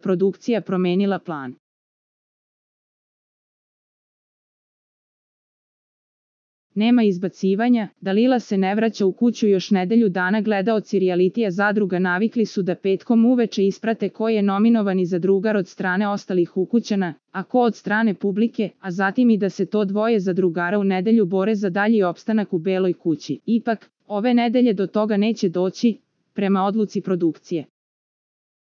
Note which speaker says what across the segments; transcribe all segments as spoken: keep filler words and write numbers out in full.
Speaker 1: produkcija promenila plan. Nema izbacivanja, Dalila se ne vraća u kuću još nedelju dana. Gledaoci rijalitija Zadruga navikli su da petkom uveče isprate ko je nominovani za drugar od strane ostalih ukućana, a ko od strane publike, a zatim i da se to dvoje zadrugara u nedelju bore za dalji opstanak u Beloj kući. Ipak, ove nedelje do toga neće doći, prema odluci produkcije.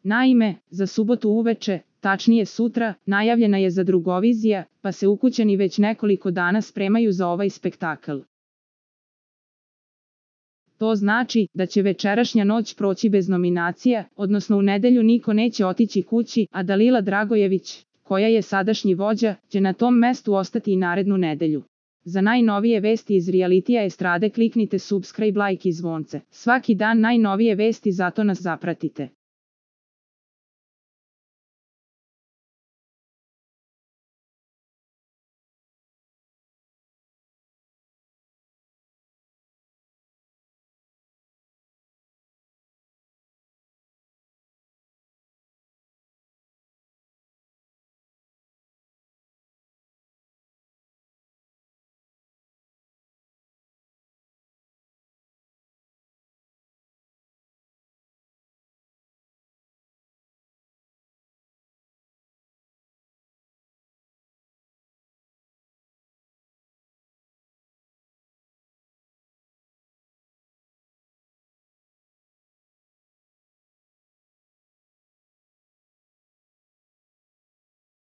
Speaker 1: Naime, za subotu uveče, tačnije sutra, najavljena je zadrugovizija, pa se ukućani već nekoliko dana spremaju za ovaj spektakl. To znači da će večerašnja noć proći bez nominacija, odnosno u nedelju niko neće otići kući, a Dalila Dragojević, koja je sadašnji vođa, će na tom mestu ostati i narednu nedelju. Za najnovije vesti iz rijalitija estrade kliknite subscribe, like i zvonce. Svaki dan najnovije vesti, zato nas zapratite.